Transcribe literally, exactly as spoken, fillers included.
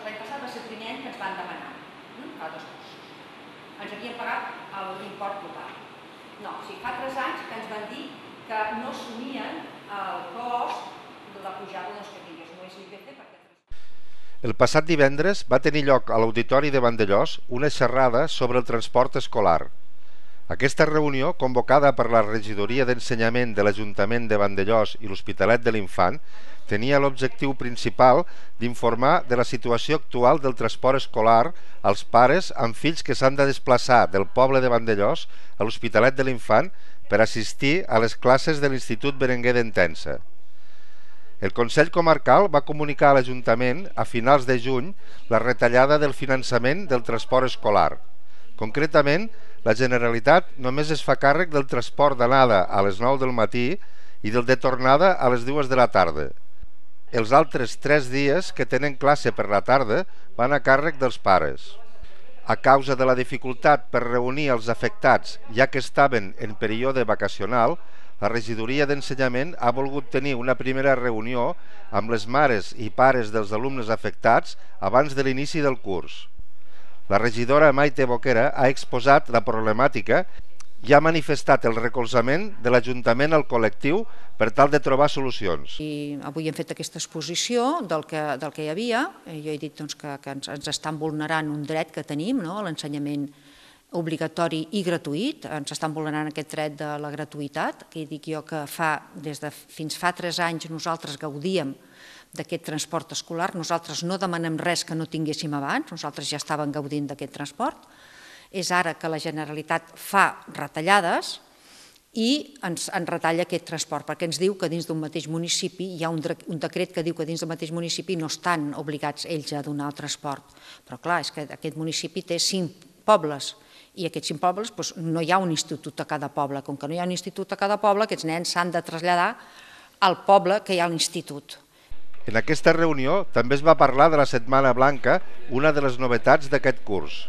l'any passat va ser el primer any que ens van demanar, fa dos cursos. Ens havien pagat l'import total. No, o sigui, fa tres anys que ens van dir que no assumien el cost de la pujada que tingués un I P C perquè... El passat divendres va tenir lloc a l'Auditori de Vandellòs una xerrada sobre el transport escolar. Aquesta reunió, convocada per la Regidoria d'Ensenyament de l'Ajuntament de Vandellòs i l'Hospitalet de l'Infant, tenia l'objectiu principal d'informar de la situació actual del transport escolar als pares amb fills que s'han de desplaçar del poble de Vandellòs a l'Hospitalet de l'Infant per assistir a les classes de l'Institut Berenguer d'Entença. El Consell Comarcal va comunicar a l'Ajuntament a finals de juny la retallada del finançament del transport escolar. Concretament, la Generalitat només es fa càrrec del transport d'anada a les nou del matí i del de tornada a les dues de la tarda. Els altres tres dies que tenen classe per la tarda van a càrrec dels pares. A causa de la dificultat per reunir els afectats, ja que estaven en període vacacional, la Regidoria d'Ensenyament ha volgut tenir una primera reunió amb les mares i pares dels alumnes afectats abans de l'inici del curs. La regidora Maite Boquera ha exposat la problemàtica i ha manifestat el recolzament de l'Ajuntament al col·lectiu per tal de trobar solucions. I avui hem fet aquesta exposició del que, del que hi havia. Jo he dit doncs, que, que ens, ens estan vulnerant un dret que tenim, no? L'ensenyament obligatori i gratuït, ens estan vulnerant aquest dret de la gratuïtat, que dic jo que fa, des de fins fa tres anys nosaltres gaudíem d'aquest transport escolar, nosaltres no demanem res que no tinguéssim abans, nosaltres ja estàvem gaudint d'aquest transport, és ara que la Generalitat fa retallades i ens, ens retalla aquest transport, perquè ens diu que dins d'un mateix municipi hi ha un, un decret que diu que dins del mateix municipi no estan obligats ells a donar el transport, però clar, és que aquest municipi té cinc pobles, i aquests cinc pobles doncs, no hi ha un institut a cada poble. Com que no hi ha un institut a cada poble, aquests nens s'han de traslladar al poble que hi ha l'institut. En aquesta reunió també es va parlar de la Setmana Blanca, una de les novetats d'aquest curs.